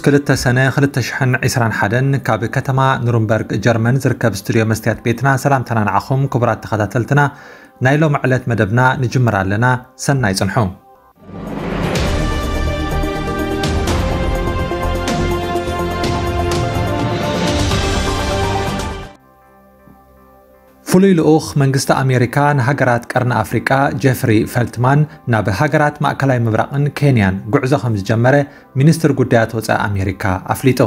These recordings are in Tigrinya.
ክልተ ሰነ ክልተ ሽሕን ዕስራን ሓደን ካብ ከተማ ኑርንበርግ ጀርመን ዝርከብ ስቱድዮ መስትያት ቤትና ሰላምታና ንዓኹም ክቡራት ተኸታተልትና። ናይ ሎሚ ዕለት መደብና ንጅምር ኣለና። ሰናይ ጽንሑ። ፍሉይ ልኡኽ መንግስቲ ኣሜሪካ ንሃገራት ቀርኒ ኣፍሪቃ ጀፍሪ ፈልትማን ናብ ሃገራት ማእከላይ ምብራቕን ኬንያን ጉዕዞ ከም ዝጀመረ ሚኒስትር ጉዳያት ወጻኢ ኣሜሪካ ኣፍሊጡ።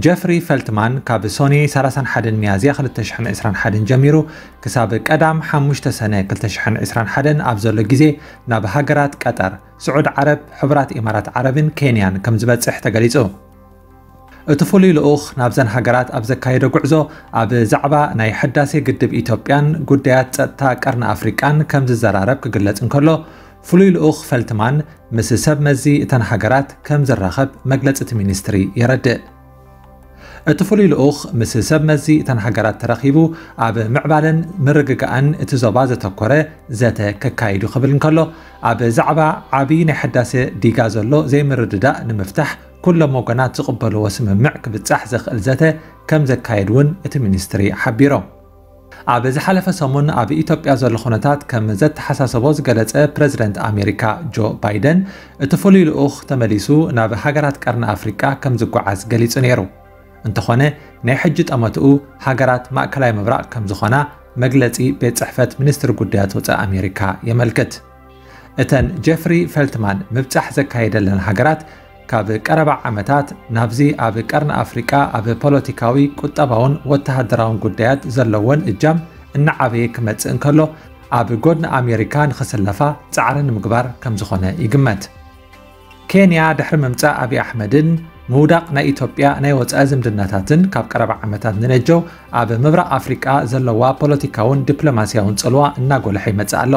ጀፍሪ ፈልትማን ካብ ሶኒ ሰላሳን ሓደን ሚያዝያ ክልተ ሽሕን ዕስራን ሓደን ጀሚሩ ክሳብ ቀዳም ሓሙሽተ ሰነ ክልተ ሽሕን ዕስራን ሓደን ኣብ ዘሎ ግዜ ናብ ሃገራት ቀጠር፣ ስዑድ ዓረብ፣ ሕቡራት ኢማራት ዓረብን ኬንያን ከም ዝበጽሕ ተገሊጹ። እቲ ፍሉይ ልኡኽ ናብዘን ሃገራት ኣብ ዘካየዶ ጉዕዞ ኣብ ዛዕባ ናይ ሕዳሴ ግድብ ኢትዮጵያን ጉዳያት ጸጥታ ቀርኒ ኣፍሪቃን ከም ዝዘራረብ ክግለጽ እንከሎ፣ ፍሉይ ልኡኽ ፈልትማን ምስ ሰብ መዚ እተን ሃገራት ከም ዝራኸብ መግለጺ እቲ ሚኒስትሪ የረድእ። እቲ ፍሉይ ልኡኽ ምስ ሰብ መዚ እተን ሃገራት ተረኺቡ ኣብ ምዕባለን ምርግጋእን እቲ ዞባ ዘተኮረ ዘተ ከካይዱ ክብል እንከሎ፣ ኣብ ዛዕባ ዓቢ ናይ ሕዳሴ ዲጋ ዘሎ ዘይምርድዳእ ንምፍታሕ ኩሎም ወገናት ዝቕበልዎ ስምምዕ ክብጻሕ ዘኽእል ዘተ ከም ዘካየድ እውን እቲ ሚኒስትሪ ሓቢሮም። ኣብ ዝሓለፈ ሰሙን ኣብ ኢትዮጵያ ዘሎ ኩነታት ከም ዘተሓሳሰቦ ዝገለጸ ፕረዚደንት ኣሜሪካ ጆ ባይደን፣ እቲ ፍሉይ ልኡኽ ተመሊሱ ናብ ሃገራት ቀርኒ ኣፍሪቃ ከም ዝጓዓዝ ገሊጹ ነይሩ። እንተኾነ፣ ናይ ሕጂ ጠመትኡ ሃገራት ማእከላይ ምብራቕ ከም ዝኾና መግለጺ ቤት ጽሕፈት ሚኒስትሪ ጉዳያት ወጻኢ ኣሜሪካ የመልክት። እተን ጀፍሪ ፈልትማን ምብጻሕ ዘካየደለን ሃገራት፣ ካብ ቀረባ ዓመታት ናብዚ ኣብ ቀርኒ ኣፍሪቃ ኣብ ፖለቲካዊ፣ ቁጠባውን ወተሃደራውን ጉዳያት ዘለወን እጃም እናዓበየ ክመጽእ እንከሎ፣ ኣብ ጎድኒ ኣሜሪካ ንኽስለፋ ጻዕሪ ንምግባር ከም ዝኾነ ይግመት። ኬንያ ድሕሪ ምምጻእ ኣብይ ኣሕመድን ምውዳቕ ናይ ኢትዮጵያ ናይ ወጻኢ ዝምድናታትን፣ ካብ ቀረባ ዓመታት ንነጀው ኣብ ምብራቕ ኣፍሪቃ ዘለዋ ፖለቲካውን ዲፕሎማስያውን ጽልዋ እናጎልሐ ይመጽእ ኣሎ።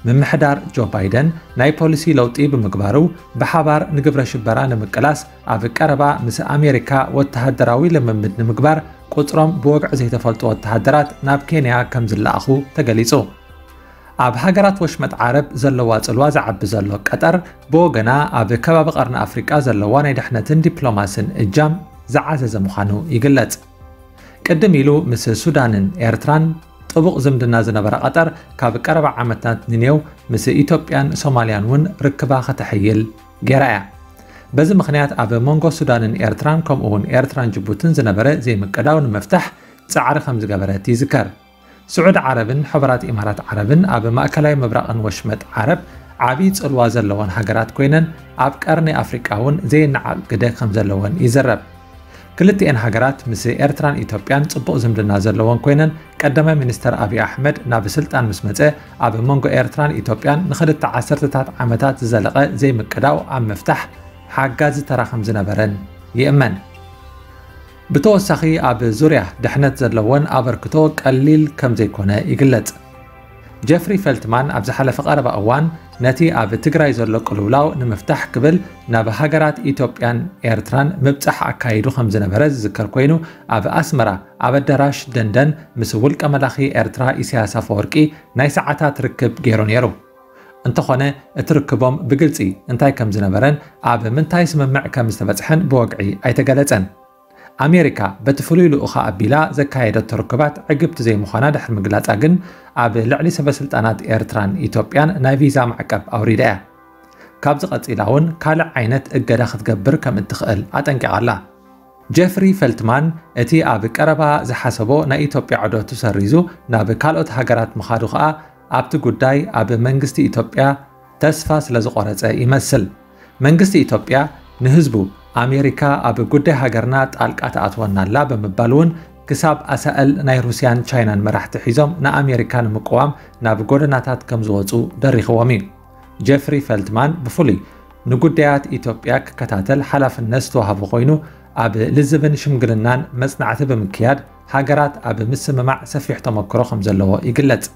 ምምሕዳር ጆ ባይደን ናይ ፖሊሲ ለውጢ ብምግባሩ፣ ብሓባር ንግብረ ሽበራ ንምቅላስ ኣብ ቀረባ ምስ ኣሜሪካ ወተሃደራዊ ልምምድ ንምግባር ቁጽሮም ብወግዒ ዘይተፈልጡ ወተሃደራት ናብ ኬንያ ከም ዝለኣኹ ተገሊጹ። ኣብ ሃገራት ወሽመጥ ዓረብ ዘለዋ ጽልዋ ዝዓቢ ዘሎ ቀጠር፣ ብወገና ኣብ ከባቢ ቀርኒ ኣፍሪቃ ዘለዋ ናይ ድሕነትን ዲፕሎማስን እጃም ዝዓዘዘ ምዃኑ ይግለጽ። ቅድም ኢሉ ምስ ሱዳንን ኤርትራን ጥቡቕ ዝምድና ዝነበራ ቀጠር፣ ካብ ቀረባ ዓመታት ንኔው ምስ ኢትዮጵያን ሶማልያን እውን ርክባ ከተሕይል ገይራ እያ። በዚ ምኽንያት ኣብ መንጎ ሱዳንን ኤርትራን ከምኡ እውን ኤርትራን ጅቡትን ዝነበረ ዘይምቅዳው ንምፍታሕ ጻዕሪ ከም ዝገበረት ይዝከር። ስዑድ ዓረብን ሕቡራት ኢማራት ዓረብን ኣብ ማእከላይ ምብራቕን ወሽመጥ ዓረብ ዓቢ ጽልዋ ዘለወን ሃገራት ኮይነን፣ ኣብ ቀርኒ ኣፍሪቃ እውን ዘይነዓቕ ግደ ከም ዘለወን ይዝረብ። ክልቲኤን ሃገራት ምስ ኤርትራን ኢትዮጵያን ጽቡቕ ዝምድና ዘለወን ኮይነን፣ ቀዳማይ ሚኒስተር ኣብይ ኣሕመድ ናብ ስልጣን ምስ መጸ፣ ኣብ መንጎ ኤርትራን ኢትዮጵያን ንኽልተ ዓሰርተታት ዓመታት ዝዘለቐ ዘይምቅዳው ኣብ ምፍታሕ ሓጋዚ ተራ ከም ዝነበረን ይእመን። ብተወሳኺ፣ ኣብ ዙርያ ድሕነት ዘለወን ኣበርክቶ ቀሊል ከም ዘይኮነ ይግለጽ። ጀፍሪ ፈልትማን ኣብ ዝሓለፈ ቀረባ እዋን፣ ነቲ ኣብ ትግራይ ዘሎ ቅልውላው ንምፍታሕ ክብል ናብ ሃገራት ኢትዮጵያን ኤርትራን ምብጻሕ ኣካይዱ ከም ዝነበረ ዝዝከር ኮይኑ፣ ኣብ ኣስመራ ኣብ ኣዳራሽ ደንደን ምስ ውልቀ መላኺ ኤርትራ ኢሳያስ ኣፈወርቂ ናይ ሰዓታት ርክብ ገይሩ ነይሩ። እንተኾነ፣ እቲ ርክቦም ብግልጺ እንታይ ከም ዝነበረን ኣብ ምንታይ ስምምዕ ከም ዝተበጽሐን ብወግዒ ኣይተገለጸን። ኣሜሪካ በቲ ፍሉይ ልኡኻ ኣቢላ ዘካየደቶ ርክባት ዕግብቲ ዘይምዃና ድሕሪ ምግላጻ ግን፣ ኣብ ልዕሊ ሰበስልጣናት ኤርትራን ኢትዮጵያን ናይ ቪዛ ማዕቀብ ኣውሪዳ እያ። ካብዚ ቀጺላ እውን ካልእ ዓይነት እገዳ ክትገብር ከም እትኽእል ኣጠንቂቓ ኣላ። ጀፍሪ ፈልትማን እቲ ኣብ ቀረባ ዝሓሰቦ ናይ ኢትዮጵያ ዑደቱ ሰሪዙ ናብ ካልኦት ሃገራት ምኻዱ ከኣ፣ ኣብቲ ጉዳይ ኣብ መንግስቲ ኢትዮጵያ ተስፋ ስለ ዝቖረጸ ይመስል። መንግስቲ ኢትዮጵያ ንህዝቡ፣ ኣሜሪካ ኣብ ጉዳይ ሃገርና ጣልቃ ትኣትወና ኣላ ብምባል እውን፣ ክሳብ ኣሳእል ናይ ሩስያን ቻይናን መራሕቲ ሒዞም ንኣሜሪካ ንምቅዋም ናብ ጎደናታት ከም ዝወጹ ደሪኽዎም እዩ። ጀፍሪ ፈልትማን ብፍሉይ ንጉዳያት ኢትዮጵያ ክከታተል ሓላፍነት ዝተዋህቦ ኮይኑ፣ ኣብ ልዝብን ሽምግልናን መጽናዕቲ ብምክያድ፣ ሃገራት ኣብ ምስምማዕ ሰፊሕ ተመክሮ ከም ዘለዎ ይግለጽ።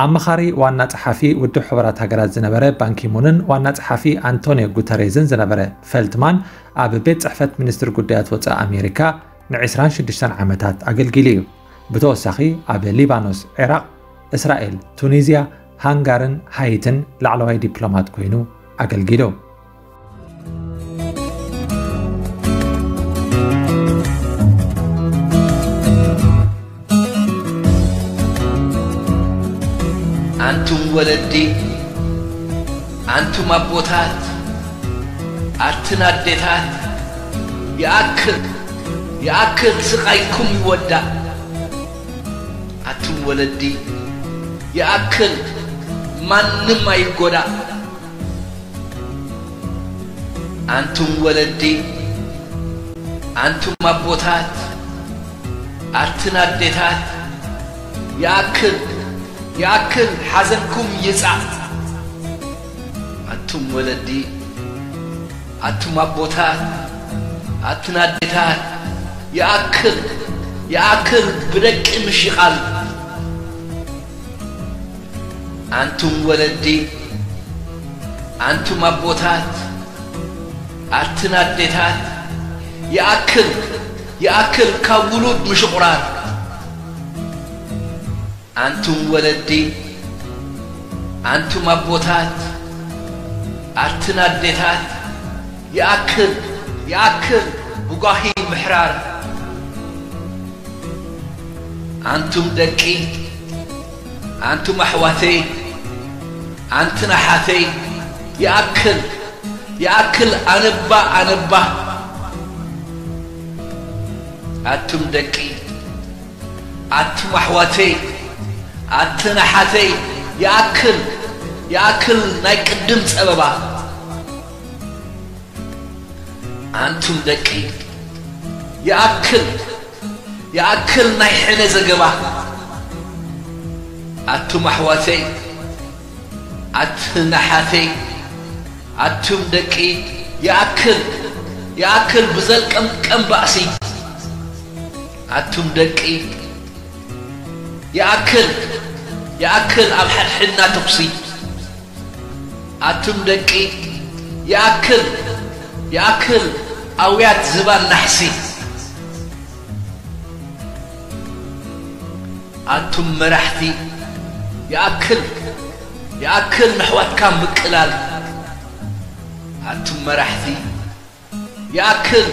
ኣማኻሪ ዋና ጸሓፊ ውድብ ሕቡራት ሃገራት ዝነበረ ባንኪሙንን ዋና ጸሓፊ ኣንቶኒዮ ጉተሬዝን ዝነበረ ፈልትማን፣ ኣብ ቤት ጽሕፈት ሚኒስትሪ ጉዳያት ወጻኢ ኣሜሪካ ንዕስራን ሽዱሽተን ዓመታት ኣገልጊሉ እዩ። ብተወሳኺ፣ ኣብ ሊባኖስ፣ ዒራቕ፣ እስራኤል፣ ቱኒዝያ፣ ሃንጋርን ሃይትን ላዕለዋይ ዲፕሎማት ኮይኑ ኣገልጊሉ። ወለዲ፣ ኣንቱም ኣቦታት፣ ኣትን ኣዴታት፣ ይኣክል፣ ይኣክል ስቓይኩም ይወዳእ። ኣቱም ወለዲ፣ ይኣክል ማንም ኣይጎዳእ። ኣንቱም ወለዲ፣ ኣንቱም ኣቦታት፣ ኣትን ኣዴታት፣ ይኣክል፣ ይኣክል ሓዘንኩም ይጻእ። ኣቱም ወለዲ፣ ኣቱም ኣቦታት፣ ኣትን ኣዴታት፣ ይኣክል፣ ይኣክል ብደቂ ምሽቓል። ኣንቱም ወለዲ፣ ኣንቱም ኣቦታት፣ ኣትን ኣዴታት፣ ይኣክል፣ ይኣክል ካብ ውሉድ ምሽቑራር። ኣንቱም ወለዲ፣ ኣንቱም ኣቦታት፣ ኣትን ኣዴታት፣ ይኣክል፣ ይኣክል ብጓሂ ምሕራር። ኣንቱም ደቂ፣ ኣንቱም ኣሕዋተይ፣ ኣንትን ኣሓተይ፣ ይኣክል፣ ይኣክል ኣነባ፣ ኣነባ። ኣቱም ደቂ፣ ኣቱም ኣሕዋተይ፣ ኣትን ኣሓተይ፣ ይኣክል፣ ይኣክል ናይ ቅድም ጸበባ። ኣንቱም ደቂ፣ ይኣክል፣ ይኣክል ናይ ሕነ ዘገባ። ኣቱም ኣሕዋተይ፣ ኣትን ኣሓተይ፣ ኣቱም ደቂ፣ ይኣክል፣ ይኣክል ብዘልቀምቀም ባእሲ። ኣቱም ደቂ፣ ይኣክል፣ ይኣክል ኣብ ሓድሕድና ተኹሲ። ኣቱም ደቂ፣ ይኣክል፣ ይኣክል ኣውያት ዝባን ናሕሲ። ኣቱም መራሕቲ፣ ይኣክል፣ ይኣክል ነሕዋትካ ምቅላል። ኣቱም መራሕቲ፣ ይኣክል፣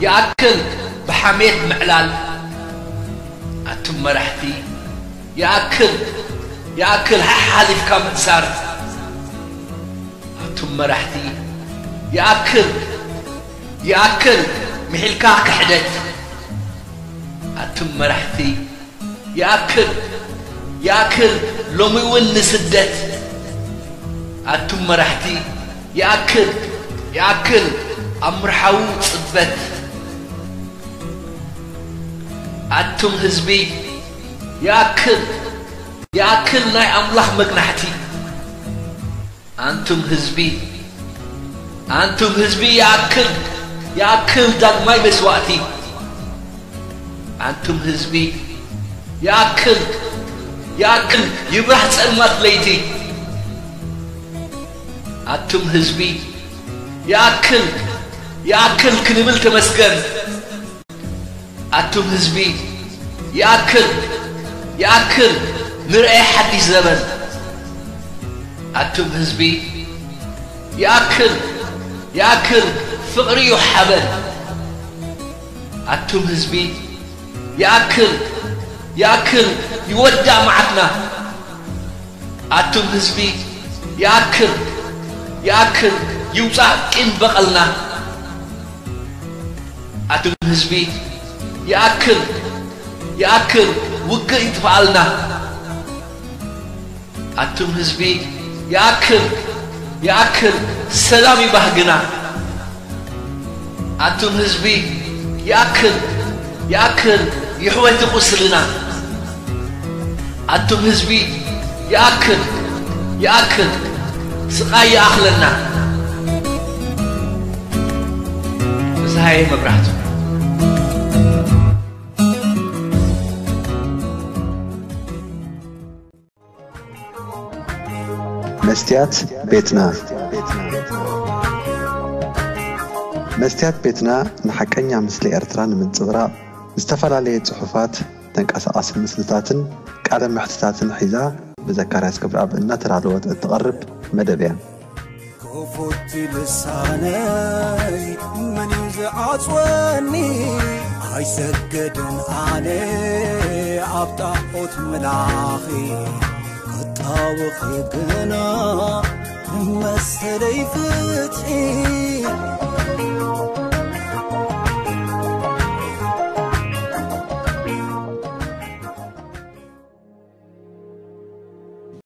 ይኣክል ብሓሜት ምዕላል። ኣቱም መራሕቲ፣ ይኣክል፣ ይኣክል ሓሓሊፍካ ምእሳር። ኣቱም መራሕቲ፣ ይኣክል፣ ይኣክል ምሒልካ ክሕደት። ኣቱም መራሕቲ፣ ይኣክል፣ ይኣክል ሎሚ እውን ንስደት። ኣቱም መራሕቲ፣ ይኣክል፣ ይኣክል ኣብ ምርሓዉ ጽበት። ኣቱም ህዝቢ፣ ይኣክል፣ ይኣክል ናይ ኣምላኽ መግናሕቲ። ኣንቱም ህዝቢ፣ ኣንቱም ህዝቢ፣ ይኣክል፣ ይኣክል ዳግማይ መስዋእቲ። ኣንቱም ህዝቢ፣ ይኣክል፣ ይኣክል ይብራህ ጸልማት ለይቲ። ኣቱም ህዝቢ፣ ይኣክል፣ ይኣክል ክንብል ተመስገን። ኣቱም ህዝቢ፣ ይኣክል፣ ይኣክል ንርኤ ሓድሽ ዘበን። ኣቱም ህዝቢ፣ ይኣክል፣ ይኣክል ፍቕሪ እዩ ሓበን። ኣቱም ህዝቢ፣ ይኣክል፣ ይኣክል ይወዳእ መዓትና። ኣቱም ህዝቢ፣ ይኣክል፣ ይኣክል ይውጻእ ቂም በቐልና። ኣቱም ህዝቢ፣ ይኣክል፣ ይኣክል ውግእ ይጥፍኣልና። ኣቱም ህዝቢ፣ ይኣክል፣ ይኣክል ሰላም ይባህግና። ኣቱም ህዝቢ፣ ይኣክል፣ ይኣክል ይሕወት ቁስልና። ኣቱም ህዝቢ፣ ይኣክል፣ ይኣክል ስቓይ ይኣኽለና። ፍስሃየ መብራህቱ። መስትያት ቤትና። መስትያት ቤትና ንሓቀኛ ምስሊ ኤርትራ ንምንጽብራቕ ዝተፈላለየ ጽሑፋት፣ ተንቀሳቓሲ ምስልታትን ቃለ መሕትታትን ሒዛ ብዘካርያስ ገብረኣብ እናተዳለወት እትቐርብ መደብ እያ። ክፉት ልሳነይ መን እዩ ዝዓጽወኒ? ኣይሰግድን ኣነ ኣብ ጣዖት ምላኺ። ክጣ ኣወኺ ግና መሰለይ ፍትሒ